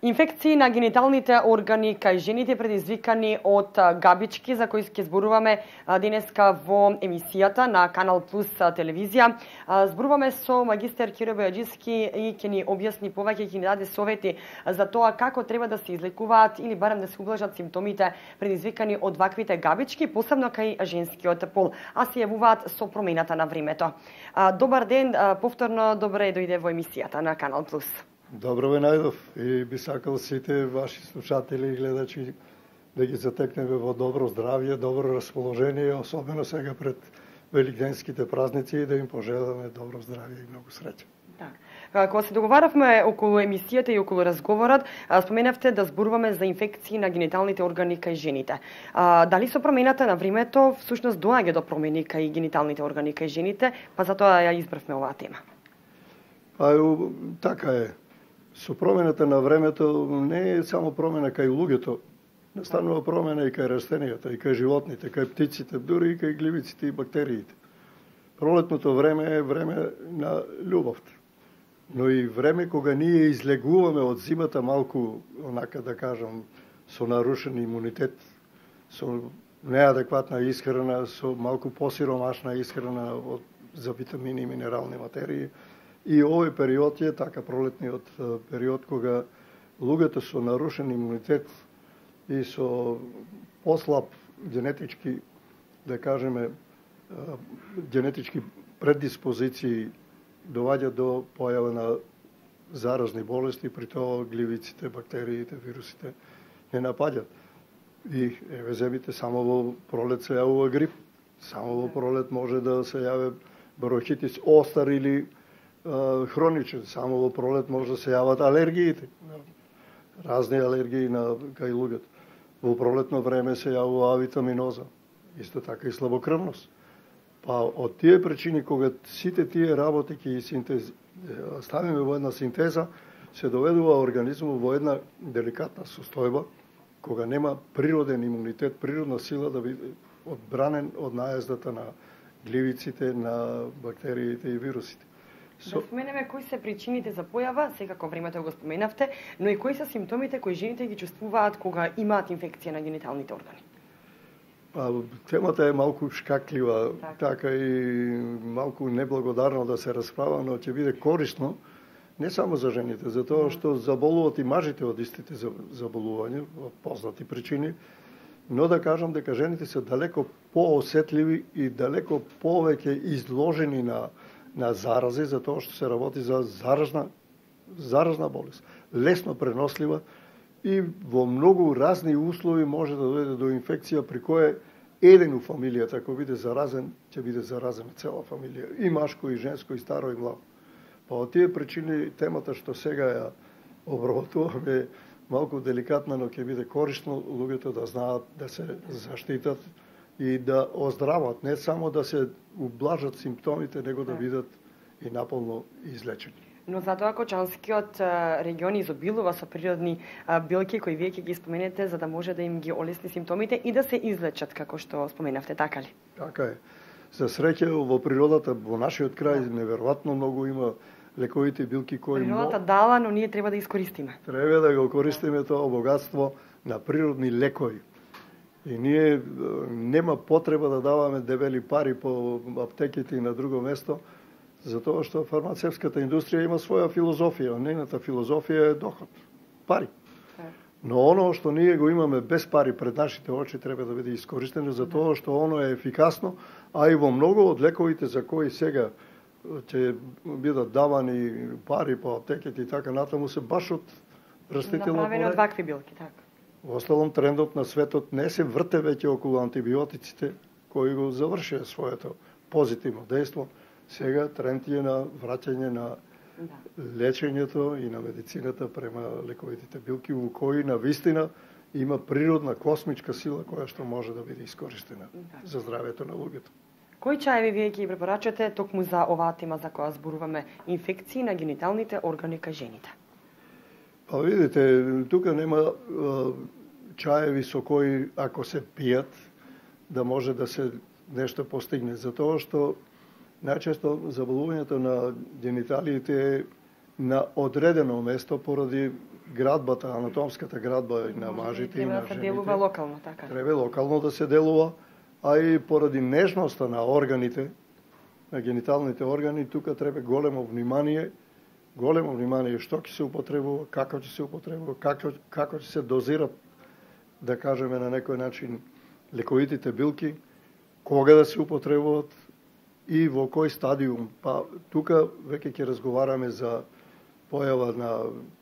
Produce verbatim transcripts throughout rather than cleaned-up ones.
Инфекции на гениталните органи кај жените предизвикани од габички, за кои ќе зборуваме денеска во емисијата на Канал Плюс телевизија. Зборуваме со магистер Киро Бојаджиски и ќе ни објасни повеќе, ќе ни даде совети за тоа како треба да се излекуваат или барем да се ублажат симптомите предизвикани од ваквите габички, посебно кај женскиот пол, а се јавуваат со промената на времето. Добар ден, повторно добре дојде во емисијата на Канал Плюс. Добро ве најдов и би сакал сите ваши слушатели и гледачи да ги затекнеме во добро здравје, добро расположение, особено сега пред великденските празници, и да им пожеламе добро здравје и многу среќа. Так. Кога се договаравме околу емисијата и околу разговорот, споменавте да зборуваме за инфекции на гениталните органи кај жените. Дали со промената на времето всушност доаѓа до промени кај гениталните органи кај жените, па затоа ја избравме оваа тема? Па така е. Со промената на времето не е само промена кај луѓето, настанува промена и кај растенијата, и кај животните, кај птиците, дури и кај гливиците и бактериите. Пролетното време е време на љубовта, но и време кога ние излегуваме од зимата малку, онака да кажам, со нарушен имунитет, со неадекватна исхрана, со малку посиромашна исхрана од, за витамини и минерални материи. И овој период е така пролетниот период кога луѓето со нарушен имунитет и со послаб генетички, да кажеме, генетички предиспозиции доваѓа до појава на заразни болести, при тоа гливиците, бактериите, вирусите не напаѓат. И еве земите само во пролет се јавува грип, само во пролет може да се јаве бронхитис остар или хроничен, само во пролет може да се јават алергиите, разни алергии на кај луѓето. Во пролетно време се јавува авитаминоза, исто така и слабокрвност. Па од тие причини, кога сите тие работи ќе синтез ставиме во една синтеза, се доведува организмот во една деликатна состојба, кога нема природен имунитет, природна сила да биде одбранен од наездата на гливиците, на бактериите и вирусите. Да споменеме кои се причините за појава, секако времето го споменавте, но и кои се симптомите кои жените ги чувствуваат кога имаат инфекција на гениталните органи? Па, темата е малку шкаклива, така, така и малку неблагодарно да се расправа, но ќе биде корисно не само за жените, затоа што заболуваат и мажите од истите заболувања, од познати причини, но да кажам дека жените се далеко поосетливи и далеко повеќе изложени на на зарази, затоа што се работи за заразна, заразна болест, лесно пренослива и во многу разни услови може да дојде до инфекција при која еден у фамилијата, ако биде заразен, ќе биде заразена цела фамилија, и машко, и женско, и старо, и младо. Па од тие причини темата што сега ја обработуваме малку деликатна, но ќе биде корисно луѓето да знаат да се заштитат и да оздрават, не само да се ублажат симптомите, него да бидат и наполно излечени. Но затоа Кочанскиот регион изобилува со природни билки кои вие ќе ги споменете за да може да им ги олесни симптомите и да се излечат, како што споменавте, така ли? Така е. За среќа во природата, во нашиот крај, неверојатно многу има лековите билки кои природата дала, но ние треба да искористиме. Треба да го користиме тоа богатство на природни лекови. И ние нема потреба да даваме дебели пари по аптеките и на друго место, затоа што фармацевската индустрија има своја филозофија. Нејната филозофија е доход, пари. Но оно што ние го имаме без пари пред нашите очи треба да биде искористено, затоа што оно е ефикасно, а и во многу од лековите за кои сега ќе бидат давани пари по аптеките и така натаму се баш од растително направени од вакви билки, така. Во осталом, трендот на светот не се врте веќе околу антибиотиците, кои го завршија своето позитивно дејство. Сега тренд е на враќање на да. лечењето и на медицината према лековите билки, во кои на вистина има природна космичка сила која што може да биде искористена да. за здравјето на луѓето. Кои чаеви вие ќе ги препорачате токму за оваа тема за која зборуваме, инфекции на гениталните органи кај жените? Па видите, тука нема чаеви со кои, ако се пијат, да може да се нешто постигне. Затоа што најчесто заболувањето на гениталиите на одредено место поради градбата, анатомската градба на мажите и на жените. Треба да се делува локално, така. Треба локално да се делува, а и поради нежноста на органите, на гениталните органи, тука треба големо внимание, големо внимание што ќе се употребува, како ќе се употребува, како како ќе се дозират, да кажеме на некој начин, лековитите билки, кога да се употребуваат и во кој стадиум. Па тука веќе ќе разговараме за појава на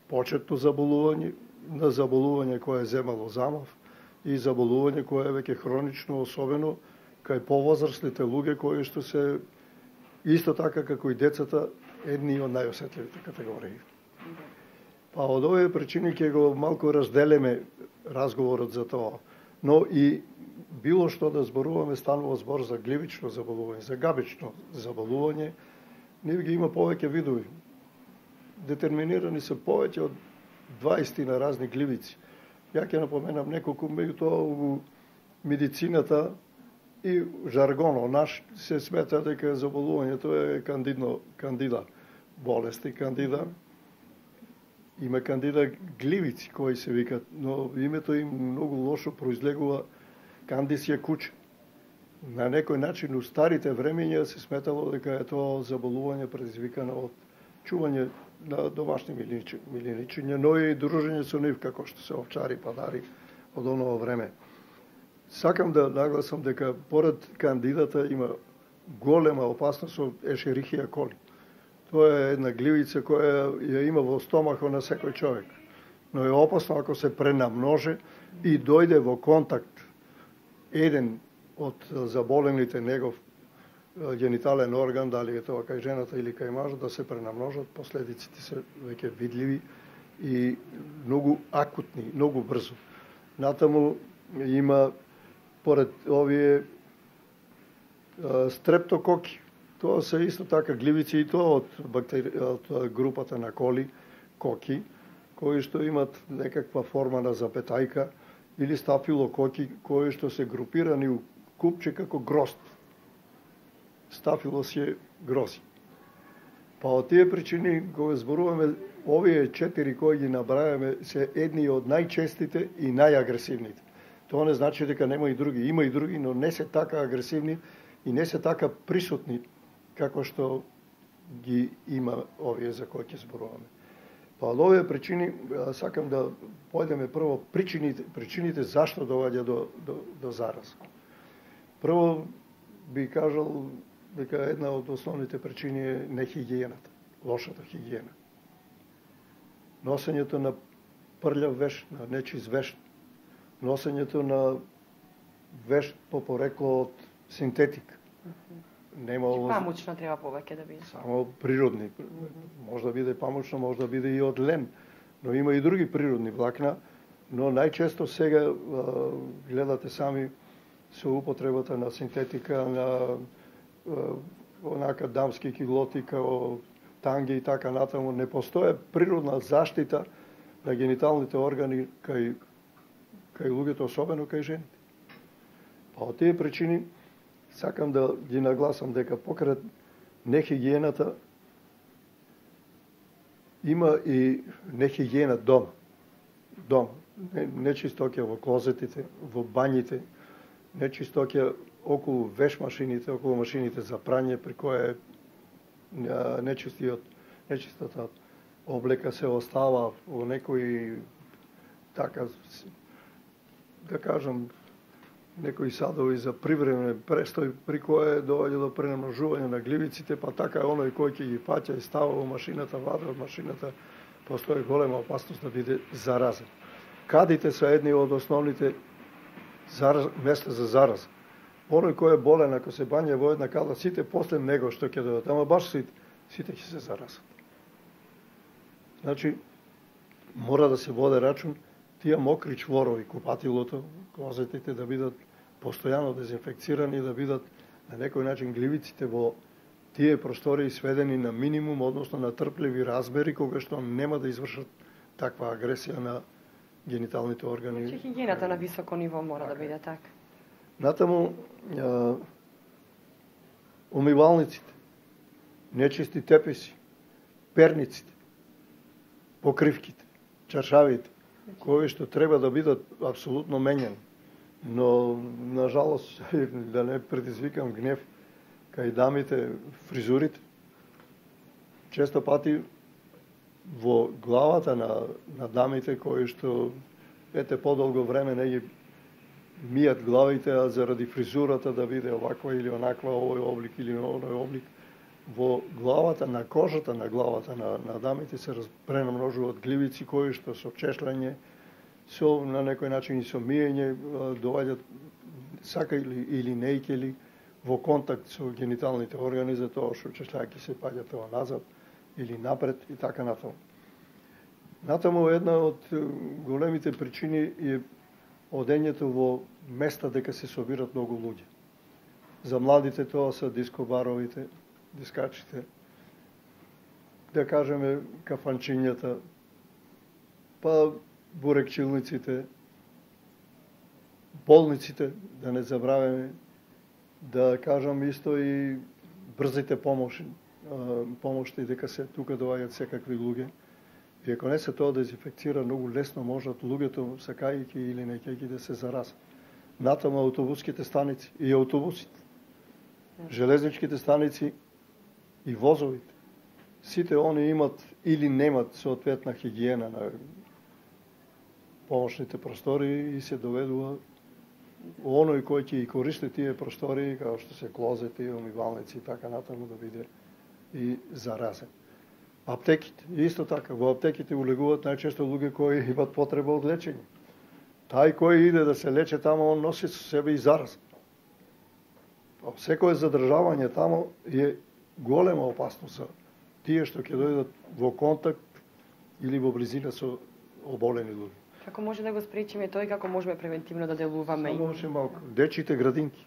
почетно заболување, на заболување кое е земало замав и заболување кое е веќе хронично, особено кај повозрастните луѓе кои што се исто така како и децата едни од најосетливите категории. Па од овие причини ќе го малку разделиме разговорот за тоа. Но и било што да зборуваме, станува збор за гливично заболување, за габично заболување, нив ги има повеќе видови. Детерминирани се повеќе од дваесет на разни гливици. Ја ќе напоменам неколку, меѓу тоа у медицината и жаргонот наш се смета дека заболувањето е кандидно, кандида болести, кандида. Има кандида гливици кои се викат, но името им многу лошо произлегува кандисија куче. На некој начин у старите времења се сметало дека е тоа заболување предизвикано од чување на домашни милиничиња, но и дружење со нив, како што се овчари, падари од оново време. Сакам да нагласам дека поред кандидата има голема опасност од ешерихија коли. Тоа е една гливица која ја има во стомахот на секој човек. Но е опасно ако се пренамноже и дојде во контакт еден од заболените негов генитален орган, дали е тоа кај жената или кај мажот, да се пренамножат, последиците се веќе видливи и многу акутни, многу брзо. Натаму има поред овие стрептококи. Тоа се исто така гливици и тоа од, бактери... од групата на коли, коки, кои што имат некаква форма на запетајка или стафилококи, кои што се групирани у купче како грозд. Стафилос е грози. Па од тие причини, кога зборуваме, овие четири кои ги набрајаме, се едни од најчестите и најагресивните. Тоа не значи дека нема и други. Има и други, но не се така агресивни и не се така присутни како што ги има овие за кои ќе зборуваме. Па од овие причини сакам да појдеме прво причините, причините зашто доаѓа до, до, до зараз. Прво би кажал дека една од основните причини е нехигиената, лошата хигиена. Носењето на прљав веш, на нечист веш, носењето на веш по порекло од синтетик. Нема Че памучно треба повеќе да биде. Само природни. Може да биде памучно, може да биде и од лен. Но има и други природни влакна, но најчесто сега а, гледате сами со употребата на синтетика, на а, онака дамски килоти, као танги и така натаму, не постоја природна заштита на гениталните органи кај, кај луѓето, особено кај жените. Па од тие причини сакам да ги нагласам дека покрај нехигиената има и нехигиена дома. Дома. Нечистоќа во клозетите, во бањите, нечистоќа околу веш машините, околу машините за прање, при кое нечистиот, нечистата облека се остава во некои, така, да кажам, некои садови за привремен престој, при кое доаѓа до пренамножување на гливиците, па така оној кој ќе ги паќа и става во машината, ваде од машината, постои голема опасност да биде заразен. Кадите се едни од основните зараз... места за зараза. Оној кој е болен, ако се бања во една када, сите после него што ќе дојдат, ама баш сите, сите ќе се заразат. Значи, мора да се воде рачун тие мокри чворови, купатилото, клозетите да бидат постојано дезинфекцирани, да бидат на некој начин гливиците во тие простори сведени на минимум, односно на трпливи размери, кога што нема да извршат таква агресија на гениталните органи. Че хигиената на високо ниво мора да биде така. Натаму, а, умивалниците, нечисти теписи, перниците, покривките, чаршавите, кои што треба да бидат апсолутно менени. Но, на жалост, да не предизвикам гнев, кај дамите, фризурите, често пати во главата на, на дамите кои што ете подолго време не ги мијат главите, а заради фризурата да биде оваква или онаква, овој облик или оној облик, во главата, на кожата на главата на, на дамите се пренамножуваат гливици кои што со чешљање, со на некој начин и со миење доваѓаат сака или, или нејкели во контакт со гениталните органи, за тоа што чешљајќи се паѓа тоа назад или напред и така натаму. Натаму една од големите причини е одењето во места дека се собират многу луѓе. За младите тоа се дискобаровите, дискачите, да кажеме кафанчињата, па бурекчилниците, болниците, да не забравяме, да кажам исто и брзите помоши, помошти, дека се тука доаѓаат секакви луѓе. И ако не се тоа дезинфекцира, многу лесно можат луѓето, сакајќи или неќајќи, да се заразат. Натаму автобуските станици и автобусите, железничките станици и возовите. Сите они имат или немат соодветна хигиена на помошните простори и се доведува оној кој ќе и користи тие простори, како што се клозети, умивалници и така натаму, да биде и заразен. Аптеките, исто така, во аптеките улегуваат најчесто луѓе кои имат потреба од лечење. Тај кој иде да се лече тамо, он носи со себе и зараз. Секој задржавање тамо е голема опасност за тие што ќе дојдат во контакт или во близина со оболени луѓе. Како може да го спречиме тој, како можеме превентивно да делуваме? Само уште малку. Дечите градинки,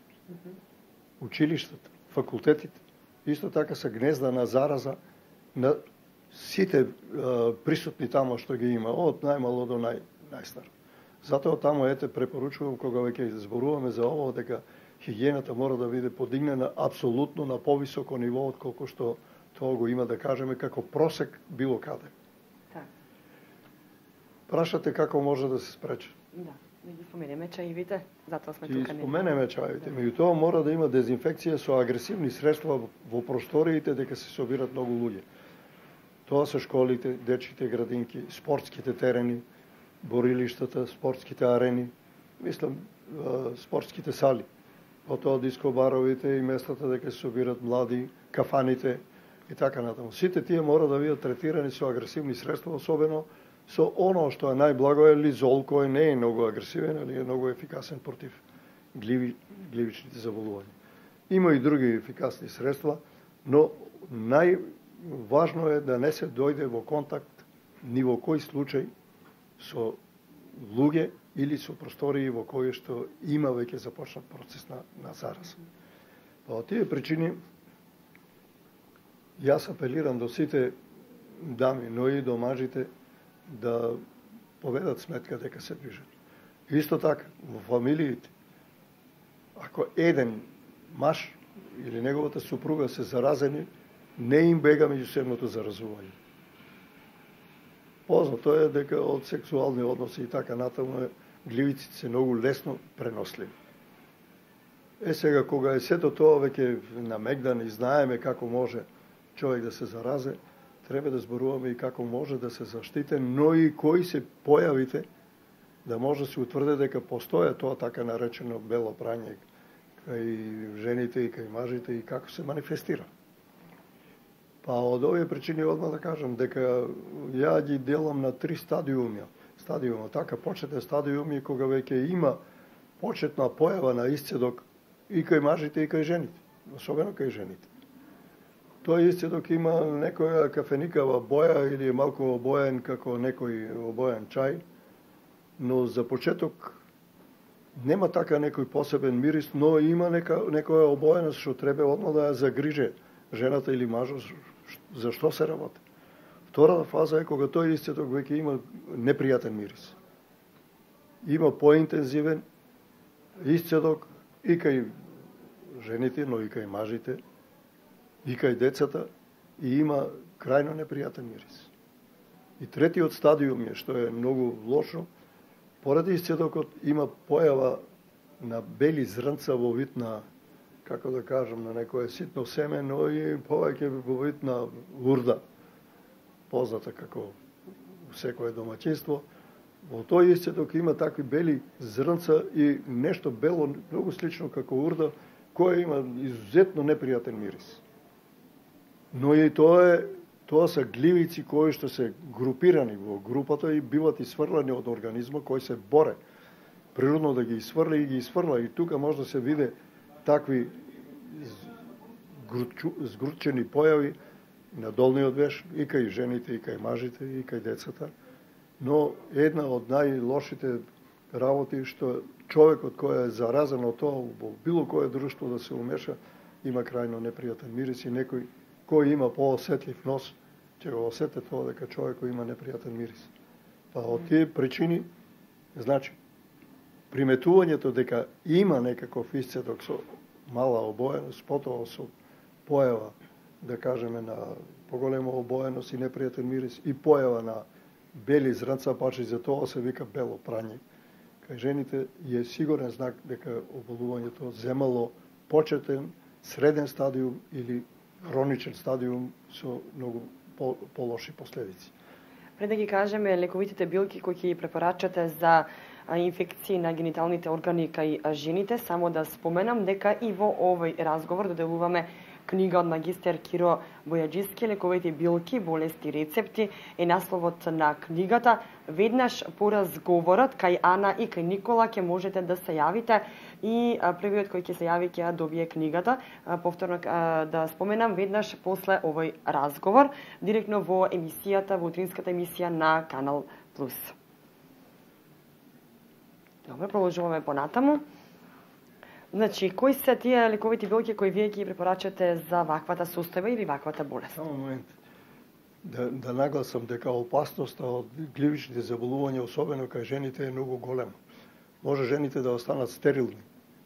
училиштата, факултетите, исто така се гнезда на зараза на сите а, присутни тамо што ги има, од најмало до нај, најстар. Затоа тамо ете препоручувам кога веќе зборуваме за ово, дека хигиената мора да биде подигнена апсолутно на повисоко ниво од колку што тоа го има, да кажеме, како просек било каде. Так. Прашате како може да се спречи? Да, да ги споменеме чаивите, затоа сме Ги тука. споменеме чаивите, меѓутоа мора да има дезинфекција со агресивни средства во просториите дека се собират многу луѓе. Тоа се школите, дечите градинки, спортските терени, борилиштата, спортските арени, мислам, спортските сали, потоа дискобаровите и местата дека се собират млади, кафаните и така натаму. Сите тие мора да бидат третирани со агресивни средства, особено со оно што е најблаго е лизол, кој не е многу агресивен, али е многу ефикасен против гливи, гливичните заболувања. Има и други ефикасни средства, но најважно е да не се дојде во контакт ни во кој случај со луѓе или со простории во кои што има веќе започнат процес на, на зараз. Па од тие причини јас апелирам до сите дами, но и до мажите, да поведат сметка дека се движат. Исто така, во фамилиите, ако еден маж или неговата супруга се заразени, не им бега меѓусебното заразување. Познато е дека од сексуални односи и така натаму гливиците се многу лесно преносливи. Е сега, кога е сето тоа веќе намегдан и знаеме како може човек да се заразе, треба да зборуваме и како може да се заштите, но и кои се појавите, да може да се утврде дека постоја тоа така наречено бело прање кај жените и кај мажите и како се манифестира. Па од овие причини одма да кажам дека ја ги делам на три стадиуми. Стадиума, така почетен стадиум е кога веќе има почетна појава на исцедок и кај мажите и кај жените, особено кај жените. Тој исцедок има некоја кафеникава боја или е малку обоен како некој обоен чај, но за почеток нема така некој посебен мирис, но има нека, некоја обоеност што треба одма да ја загриже жената или мажот за што се работи. Втората фаза е кога тој исцедок веќе има непријатен мирис. Има поинтензивен исцедок и кај жените, но и кај мажите, и кај децата, и има крајно непријатен мирис. И третиот стадиум е, што е многу лошо, поради исцедокот има појава на бели зрнца во вид на, како да кажам, на некое ситно семе, но и повеќе во вид на урда, позната како секое домаќинство. Во тој исцедок има такви бели зрнца и нешто бело, многу слично како урда, кој има изузетно непријатен мирис. Но и тоа е Тоа се гливици кои што се групирани во групата и биват исфрлани од организма кој се боре природно да ги исфрли и ги исфрла. И тука може да се виде такви згручени појави на долниот веш и кај жените, и кај мажите, и кај децата. Но една од најлошите работи што човекот кој е заразен од тоа во било кое друштво да се умеша, има крајно непријатен мирис и некој кој има поосетлив нос ќе го осете тоа дека човекот има непријатен мирис. Па од тие причини, значи, приметувањето дека има некаков исцедок со мала обоеност, потоа со појава, да кажеме, на поголема обоеност и непријатен мирис и појава на бели зрнца, паче за тоа се вика бело прање. Кај жените е сигурен знак дека оболувањето земало почетен, среден стадиум или хроничен стадиум со многу полоши последици. Пред да ги кажеме лековитите билки кои ќе препорачате за инфекции на гениталните органи кај жените, само да споменам дека и во овој разговор доделуваме книга од магистер Киро Бојаджиски, лековите билки, болести и рецепти е насловот на книгата. Веднаш по разговорот кај Ана и кај Никола ќе можете да се јавите и првиот кој ќе се јави ќе ја добие книгата. Повторно да споменам, веднаш после овој разговор, директно во емисијата, во утринската емисија на Канал Плюс. Добро, продолжуваме понатаму. Значи, кои се тие лековити билки кои вие ги препорачате за ваквата состојба или ваквата болест? Само момент. Да, да нагласам дека опасноста од гливичните заболувања, особено кај жените, е многу голема. Може жените да останат стерилни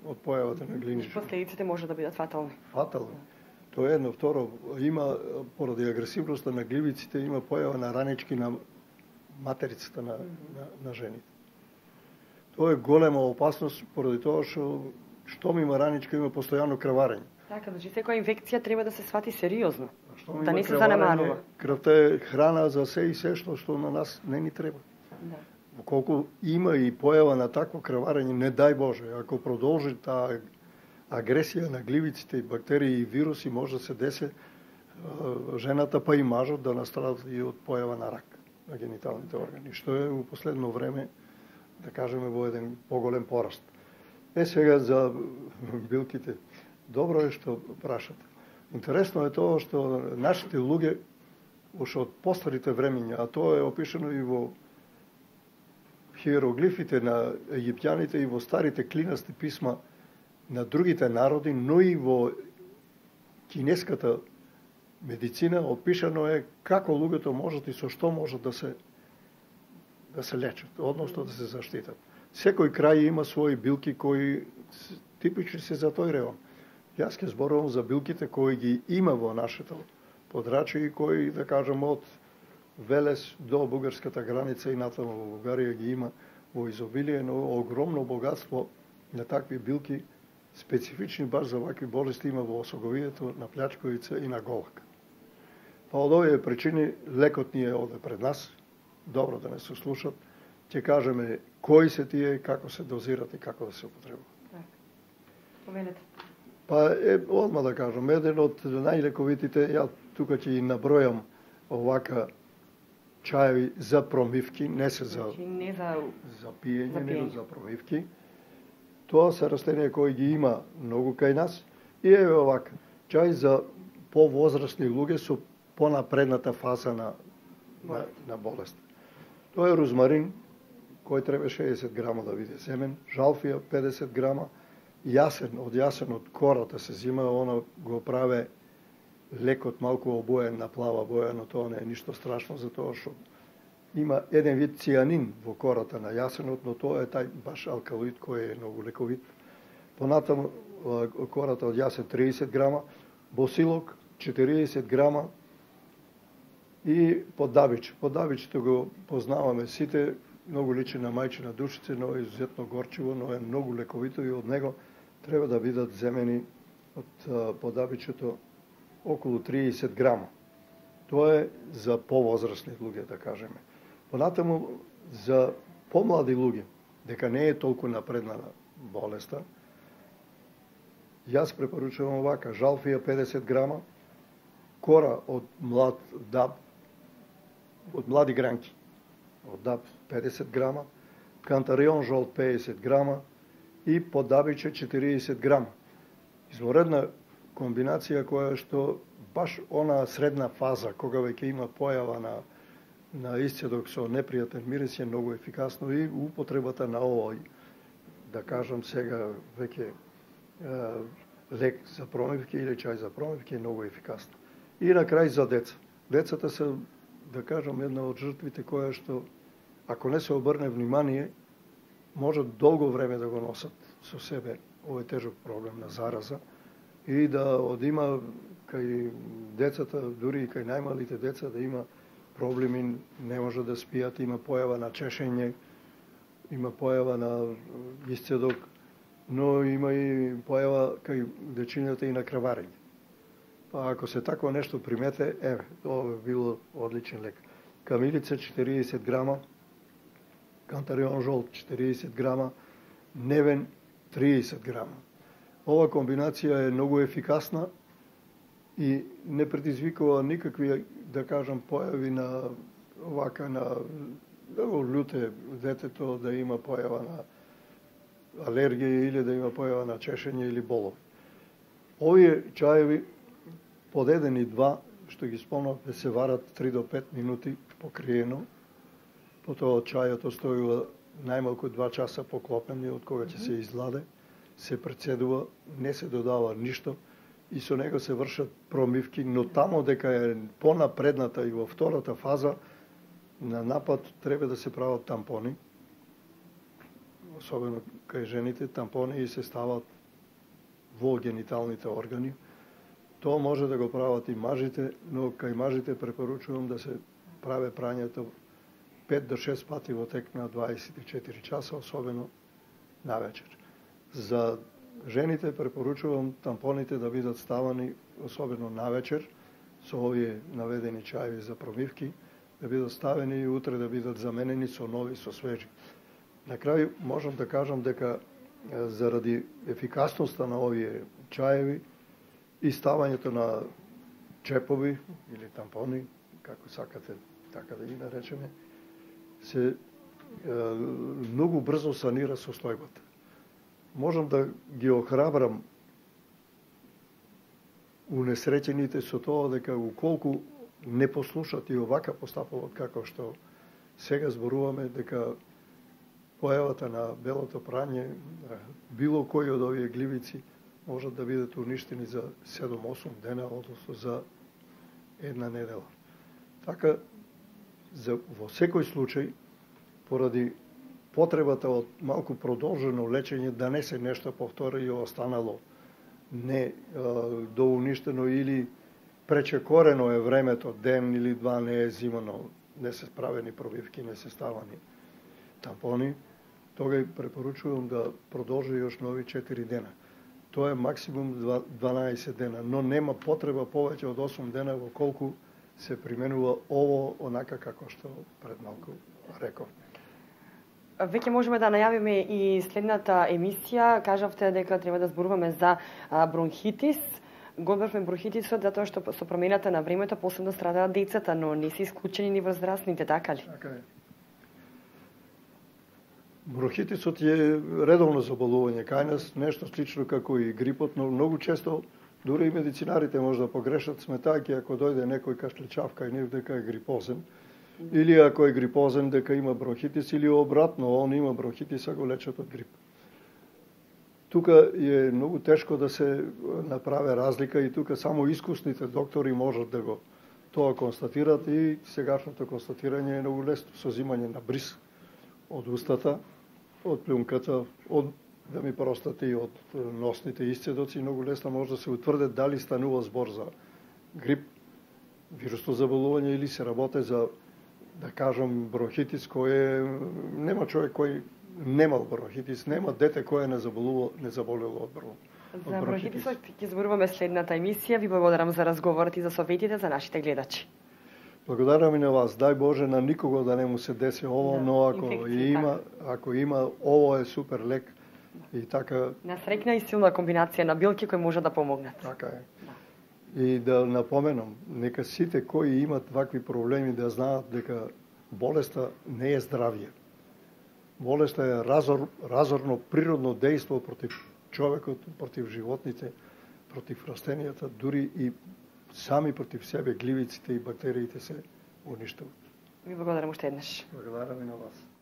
од појавата на гливични. Последиците може да бидат фатални. Фатални. Тоа е едно. Второ, има, поради агресивноста на гливиците, има појава на ранички на материцата на, на, на жените. Тоа е голема опасност, поради тоа што штом има раничка, има постојано крварење. Така, значи секоја инфекција треба да се свати сериозно, Штом да не се занемарува. Крвта е храна за се и се што што на нас не ни треба. Да. Колку има и појава на такво крварење, не дај Боже, ако продолжи таа агресија на гливиците и бактерии и вируси, може да се десе жената па и мажот да настрадат и од појава на рак на гениталните органи, што е во последно време, да кажеме, во еден поголем пораст. Е сега за билките. Добро е што прашате. Интересно е тоа што нашите луѓе уште од постарите времиња, а тоа е опишано и во хиероглифите на египтјаните и во старите клинасти писма на другите народи, но и во кинеската медицина опишано е како луѓето можат и со што можат да се да се лечат, односно да се заштитат. Секој крај има своји билки кои типични се за тој район. Јас ќе зборувам за билките кои ги има во нашето подрачје и кои, да кажем, од Велес до бугарската граница и натаму во Бугарија ги има во изобилие, но огромно богатство на такви билки, специфични баш за вакви болести, има во осоговието, на плячковица и на голак. Па од овие причини лекот ни е овде пред нас, добро да не се слушат, ќе кажеме кои се тие, како се дозират и како да се употребуваат. Поменете. Па е, одма да кажам, еден од најлековитите, ја тука ќе ги набројам овака чаеви за промивки, не се за, значи, не за... за пиење, за него пиење. за промивки. Тоа се растенија кои ги има многу кај нас. И е овака, чај за повозрастни луѓе со понапредната фаза на, на, на болест. Тоа е розмарин, кој треба шеесет грама да биде семен, жалфија педесет грама, јасен, од јасен од кората се зима, она го праве лекот малку обоен на плава боја, но тоа не е ништо страшно, затоа што има еден вид цијанин во кората на јасенот, но тоа е тај баш алкалоид кој е многу лековит. Понатаму кората од јасен триесет грама, босилок четириесет грама, И подавич. Подавичето го познаваме сите, многу личи на мајчина душица, но е изуzetно горчиво, но е многу лековито и од него треба да бидат земени од подавичето околу триесет грама. Тоа е за повозрастни луѓе, да кажеме. Понатаму, за помлади луѓе, дека не е толку напреднала болеста, јас препоручувам овака: жалфија педесет грама, кора од млад даб, од млади гранки, од даб педесет грама, кантарион жолт педесет грама и подавиче четириесет грама. Изворедна комбинација која што баш она средна фаза, кога веќе има појава на, на исцедок со непријатен мирис, е многу ефикасно и употребата на овој, да кажам сега, веќе лек за промивки или чај за промивки е многу ефикасно. И на крај за деца. Децата се, да кажам, една од жртвите која што, ако не се обрне внимание, може долго време да го носат со себе овој тежок проблем на зараза и да одима кај децата, дури и кај најмалите деца, да има проблеми, не може да спијат, има појава на чешење, има појава на исцедок, но има и појава кај дечињата и на крварење. Па ако се такво нешто примете, еве, тоа би било одличен лек. Камилица четириесет грама, кантарион жолт четириесет грама, невен триесет грама. Ова комбинација е многу ефикасна и не предизвикува никакви, да кажам, појави на овака на да го люте детето, да има појава на алергија или да има појава на чешење или болов. Овие чаеви под еден и два, што ги спомнав, да се варат три до пет минути покриено, потоа чајот остојува најмалку два часа поклопен од кога ќе се изладе, се прецедува, не се додава ништо и со него се вршат промивки, но тамо дека е понапредната и во втората фаза на напад треба да се прават тампони, особено кај жените, тампони и се стават во гениталните органи. Тоа може да го прават и мажите, но кај мажите препоручувам да се праве прањето пет до шест пати во тек на дваесет и четири часа, особено навечер. За жените препоручувам тампоните да бидат ставани особено навечер, со овие наведени чаеви за промивки, да бидат ставени и утре да бидат заменени со нови, со свежи. На крај можам да кажам дека заради ефикасноста на овие чаеви и ставањето на чепови или тампони, како сакате така да ги наречеме, се е, многу брзо санира состојбата. Можам да ги охрабрам унесреќените со тоа дека уколку не послушат и овака постапуваат како што сега зборуваме, дека појавата на белото прање, било кој од овие гливици, можат да бидат уништени за седум-осум дена, односно за една недела. Така, за, во секој случај, поради потребата од малку продолжено лечење, да не се нешто повтори и останало не доуништено или пречекорено е времето, ден или два не е зимано, не се правени пробивки, не се ставани тампони, тога препоручувам да продолжи још нови четири дена. Тоа е максимум дванаесет дена, но нема потреба повеќе од осум дена во колку се применува ово онака како што пред малку реков. Веќе можеме да најавиме и следната емисија. Кажавте дека треба да зборуваме за бронхитис. Годбавме бронхитисот затоа што со промената на времето посебно страдаат децата, но не се исклучени ни возрастните, така ли? Така е. Бронхитисот е редовно заболување кај нас, нешто слично како и грипот, но многу често дури и медицинарите може да погрешат, сметајќи ако дојде некој кашличав кај нив дека е грипозен, или ако е грипозен дека има бронхитис, или обратно, он има бронхитис, а го лечат од грип. Тука е многу тешко да се направи разлика и тука само искусните доктори можат да го тоа констатират и сегашното констатирање е многу лесно со зимање на бриз од устата, од плюнката, од да ми простате и од носните исцедоци, многу лесно може да се утврде дали станува збор за грип, вирусно заболување или се работи за, да кажам, бронхитис кој е, нема човек кој немал бронхитис, нема дете кој не заболувало, не заболело од бронхитис. За бронхитисот ќе зборуваме следната емисија. Ви благодарам за разговорот и за советите за нашите гледачи. Благодарам и на вас. Дај Боже на никого да не му се деси ово, да, но ако има, така. ако има, ово е супер лек и така. Насрекна и силна комбинација на билки кои може да помогнат. Така е. Да. И да напоменам, нека сите кои имат вакви проблеми да знаат дека болеста не е здравје. Болеста е разор, разорно природно дејство против човекот, против животните, против растенијата, дури и сами против себе гливиците и бактериите се уништуваат. Ви благодарам уште еднаш. Благодарам и на вас.